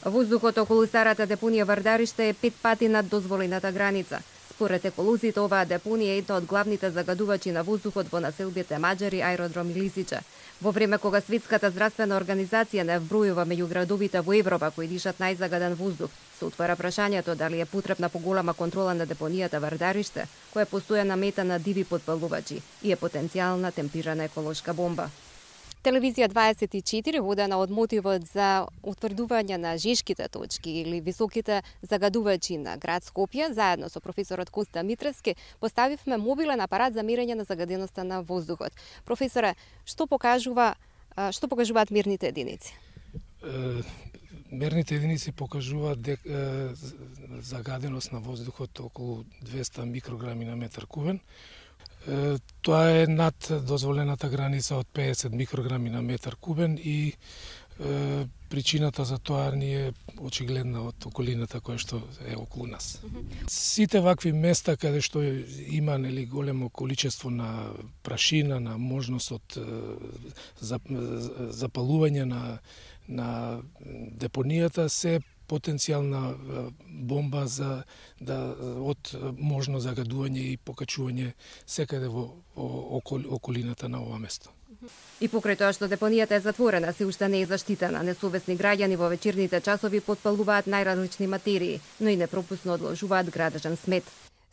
Воздухот околу старата депонија Вардариште е 5 пати над дозволената граница. Според еколозите, оваа депонија е една од главните загадувачи на воздухот во населбите Маџари, Аеродром и Лисиче. Во време кога Светската здравствена организација не вбројува меѓу градовите во Европа кои дишат најзагаден воздух, се отвара прашањето дали е потребна поголема контрола на депонијата Вардареште, која е постојана мета на диви потпалувачи и е потенцијална темпирана еколошка бомба. Телевизија 24, водена од мотивот за утврдување на жешките точки или високите загадувачи на град Скопје, заедно со професорот Коста Митревски, поставивме мобилен апарат за мерење на загаденоста на воздухот. Професоре, што покажуваат мерните единици? Мерните единици покажуваат загаденост на воздухот околу 200 микрограми на метар кубен. Тоа е над дозволената граница од 50 микрограми на метар кубен и причината за тоа ни е очигледна од околината која што е околу нас. Сите вакви места каде што има големо количество на прашина, на можност од запалување на депонијата се потенцијална бомба од можно загадување и покачување секаде во околината на ова место. И покрај тоа што депонијата е затворена, се уште не е заштитена. Несовесни граѓани во вечерните часови потпалуваат најразлични материи, но и непропусно одложуваат градежен смет.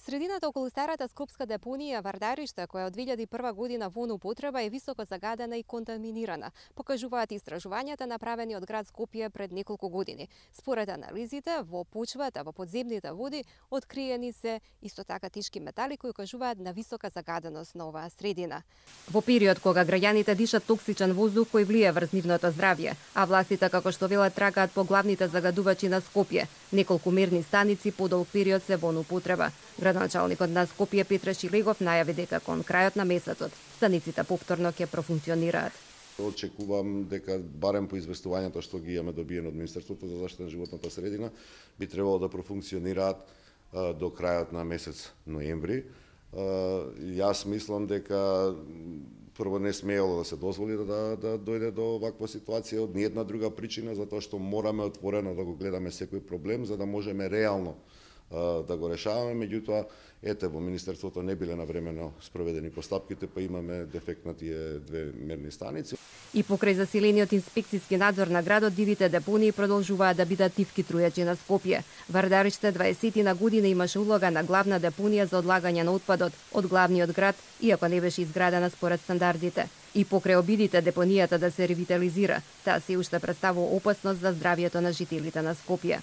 Средината околу старата скопска депонија Вардариште, која од 2001 година во употреба, е високо загадена и контаминирана, покажуваат истражувањата направени од град Скопје пред неколку години. Според анализите, во почвата, во подземните води, откриени се исто така тешки метали кои укажуваат на висока загаденост на оваа средина. Во период кога граѓаните дишат токсичен воздух кој влие врз нивното здравје, а властите, како што велат, тракаат по главните загадувачи на Скопје, неколку мерни станици подолг период се во употреба. Градоначалникот на Скопје Петре Шилегов најави дека кон крајот на месецот станиците повторно ќе профункционираат. Очекувам дека барем по известувањето што ги имаме добиено од Министерството за заштита на животната средина би требало да профункционираат до крајот на месец ноември. Јас мислам дека прво не смеело да се дозволи да дојде до ваква ситуација од ниедна друга причина, затоа што мораме отворено да го гледаме секој проблем за да можеме реално да го решаваме, меѓутоа ете во Министерството не биле навремено спроведени постапките, па имаме дефект на тие две мерни станици. И покрај засилениот инспекцијски надзор на градот, дивите депонии продолжуваат да бидат тивки трујачи на Скопје. Вардариште 20 година имаше улога на главна депонија за одлагање на отпадот од главниот град, иако не беше изградена според стандардите. И покрај обидите депонијата да се ревитализира, таа се уште представува опасност за здравјето на жителите на Скопје.